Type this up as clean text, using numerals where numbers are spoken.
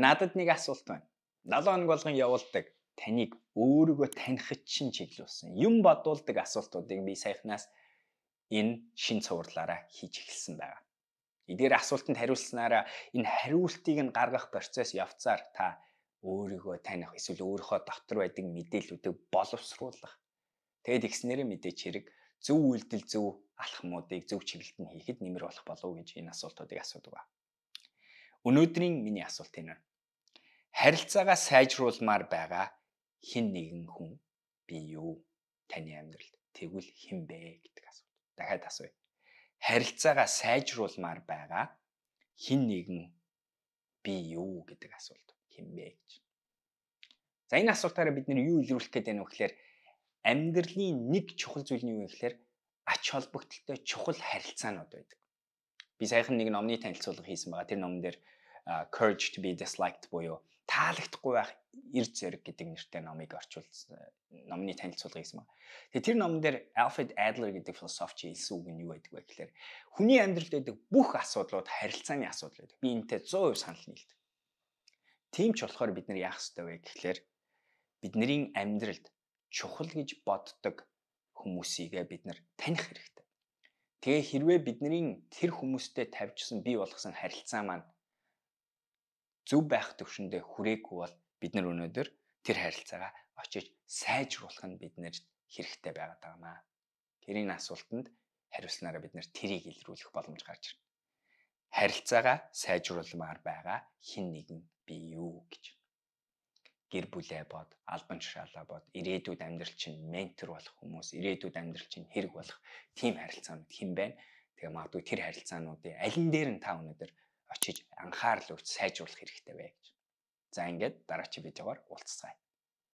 Надад нэг асуулт байна. 7 хоног болгон явуулдаг таныг өөрийгөө танихд чинь чиглүүлсэн юм бодуулдаг асуултуудыг би саяхнаас энэ шин цувралаараа хийж эхэлсэн байгаа. Эдгээр асуултанд хариулснараа энэ хариултыг нь гаргах процесс явцаар та өөрийгөө таних эсвэл өөрийнхөө дотор байдаг мэдээллүүдийг боловсруулах. Тэгэд ихснээрээ мэдээч хэрэг зөв үйлдэл зөв алхмуудыг зөв чиглэлд нь хийхэд нэмэр болох болов уу гэж энэ асуултуудыг асуудаг ба. Өнөөдрийн миний асуулт энэ. Харилцаагаа сайжруулмаар байгаа хэн нэгэн хүн би юу? Таны амьдралд тэгвэл хэн бэ гэдэг асуулт. Дахиад асууя. Харилцаагаа сайжруулмаар байгаа хэн нэгэн би юу гэдэг асуулт. Хэн бэ гэж. За энэ асуултаараа бид нэр юу илрүүлэх гээд байна вэ гэхээр амьдралын нэг чухал зүйл нь юу вэ гэхээр ач холбогдолтой чухал харилцаанууд байдаг. Би саяхан нэг номны танилцуулга хийсэн байгаа. Тэр номон дээр Courage to be disliked буюу таалагдахгүй байх эрд зэрэг гэдэг нэртэй номыг орчуулсан. Номны танилцуулга хийсэн байна. Тэгээ тэр номон дээр Alfred Adler гэдэг философч хэлсэн үг нь юу байдаг вэ гэхээр хүний амьдралд байдаг бүх асуудлууд харилцааны асуудал байдаг. Би энэтэй 100% санал нийлдэг. Тийм ч болохоор бид нар яах ёстой вэ гэхээр бидний амьдралд чухал гэж боддог хүмүүсийг бид нар таних хэрэгтэй. Тэгээ хэрвээ бидний тэр хүмүүстэй тавьжсан бий болгосон харилцаа маань зөв байх төвшөндөө хүрээгүй бол бид нар өнөөдөр тэр харилцаагаа очиж сайжруулах нь биднэрт хэрэгтэй байгаад байгаамаа. Тэрийн асуултанд хариулснараа бид нар тэрийг илрүүлэх боломж гарч ирнэ. Харилцаагаа сайжруулмаар байгаа хэн нэгэн би юу гэж. Гэр бүлээ бод, албан тушаалаа бод, ирээдүйд амьдрал чинь ментор болох хүмүүс, ирээдүйд амьдрал чинь хэрэг болох тийм харилцаанууд хэн байна? Тэгээ магадгүй тэр харилцаануудын алин дээр нь та өнөөдөр очиж анхаарал өрж сайжруулах хэрэгтэй вэ гэж. За ингээд дараагийн видеогоор уулзцгаая.